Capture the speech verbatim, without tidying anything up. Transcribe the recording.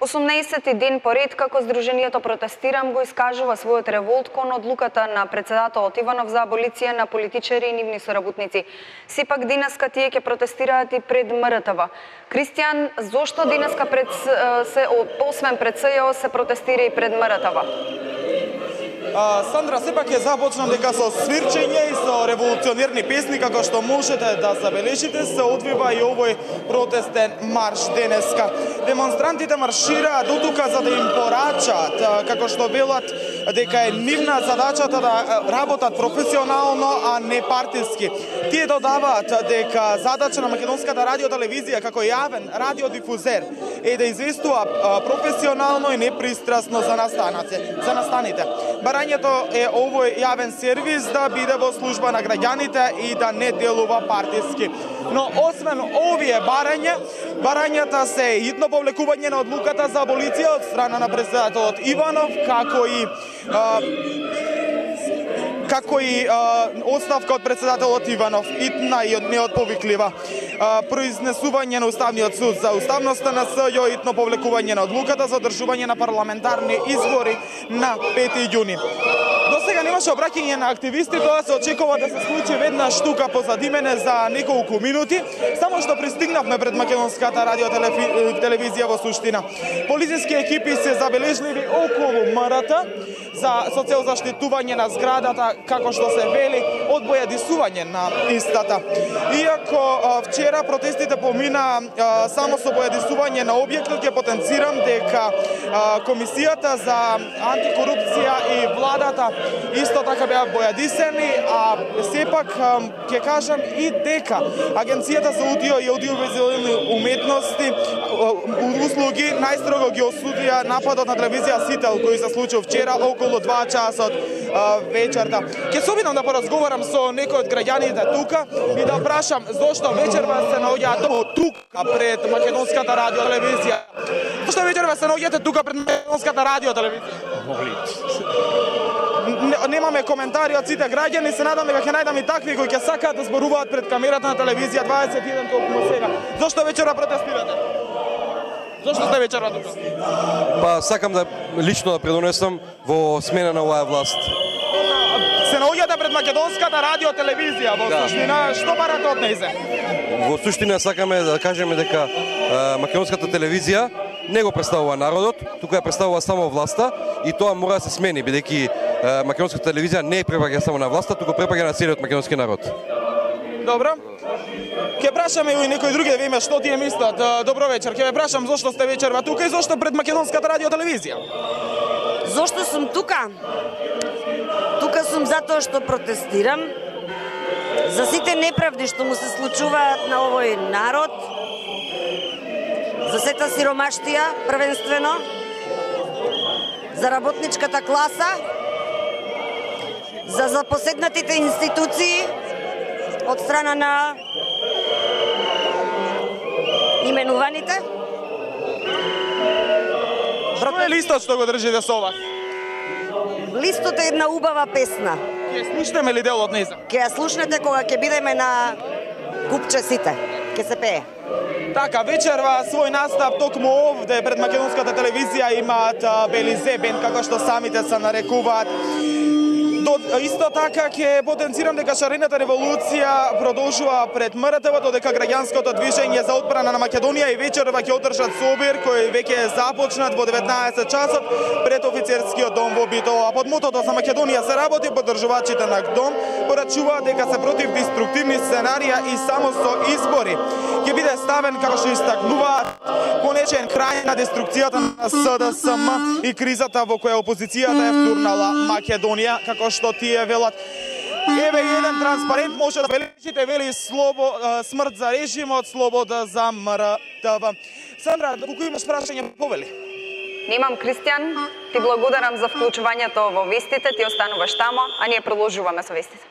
осумнаесети ден поред како Сдруженијето Протестирам го искажува својот револт кон одлуката на председателот Иванов за аболиција на политичари и нивни соработници. Сепак денеска тие ќе протестираат и пред М Р Т В. Кристијан, зошто денеска пред се освен пред С Ј О се протестира и пред М Р Т В? Сандра, сепак ќе започнам дека со свирчење и со револуционерни песни, како што можете да забележите, се одвива и овој протестен марш денеска. Демонстрантите маршираат дотука за да им порачаат, како што велат дека е нивна задачата да работат професионално, а не партиски. Тие додаваат дека задача на македонската радиотелевизија како јавен радиодифузер е да известува професионално и непристрасно за настаните. За настаните. Барањето е овој јавен сервис да биде во служба на граѓаните и да не делува партиски. Но освен овие барања, барањата се идно повлекување на одлуката за аболиција од страна на председателот Иванов, како и а, како и а, оставка од председателот Иванов, итна и неотповиклива. А, произнесување на Уставниот суд за уставноста на С Ј О, итно повлекување на одлуката за одржување на парламентарни избори на пети јуни. До сега немаше обраќање на активисти, тоа се очекува да се случи веднаш тука позади мене за неколку минути, само што пристигнавме пред македонската радиотелевизија во суштина. Полициски екипи се забележливи околу М Р Т за со цел заштитување на зградата, како што се вели, од бојадисување на истата. Иако вчера протестите помина само со бојадисување на објектот, ќе потенцирам дека Комисијата за антикорупција и владата исто така беа бојадисени, а сепак ќе кажам и дека Агенцијата за аудио и аудиовизуелни уметности услуги најстрого ги осудија нападот на телевизија Сител кој се случи вчера околу два часа од вечерта. Ќе се обидам да поразговарам со некој од граѓаните тука и да прашам зошто вечерва се наоѓаат тука пред македонската радиотелевизија. Зошто вечерва се наоѓате тука пред македонската радиотелевизија? Немаме коментари од сите граѓани, се надам дека ќе најдам и такви кои ќе сакаат да зборуваат пред камерата на телевизија дваесет и еден толку сега. Зошто вечера протестирате? Зошто сте вечера тука? Па сакам да лично да предонесам во смена на оваа власт. Се наоѓате пред македонската радиотелевизија во да. Суштина, што барате од нејзе? Во суштина сакаме да кажеме дека а, македонската телевизија не го представува народот, тука ја представува само власта и тоа мора да се смени, бидејќи македонската телевизија не е препаѓа само на власта, туку препаѓа на целиот македонски народ. Добро. Ќе прашаме и некои други да видиме што тие мислат. Добро вечер. Ќе ве прашам зошто сте вечерва тука и зошто пред македонската радиотелевизија? Зошто сум тука? Тука сум затоа што протестирам за сите неправди што му се случуваат на овој народ, за сета сиромаштија првенствено, за работничката класа, за запоседнатите институции од страна на именуваните. Што е листот што го држите со вас? Листот е една убава песна. Ќе слушнеме ли дел од нејза? Ќе ја слушнете кога ќе бидеме на купче сите. Ќе се пее. Така, вечерва свој настав токму овде пред македонската телевизија имаат Белизе бенд, како што самите се нарекуваат. До, исто така ќе потенцирам дека шарената револуција продолжува пред М Р Т В, додека граѓанското движење за одбрана на Македонија и вечерва ќе одржат собир кој веќе е започнат во деветнаесет часот пред офицерскиот дом во Битола. Под мотото за Македонија се работи, поддржувачите на ГДОМ порачуваат дека се против деструктивни сценарија и само со избори ќе биде ставен, како што истакнуваат, конечен крај на деструкцијата на С Д С М и кризата во која опозицијата е втурнала Македонија, како што тие велат. Еве еден транспарент може да бележите, вели слобо, смрт за режимот, слобода за М Р Т В. Сандра, колку имаш прашање, повели? Немам, Кристијан. Ти благодарам за вклучувањето во вестите, ти остануваш тамо, а ние продолжуваме со вестите.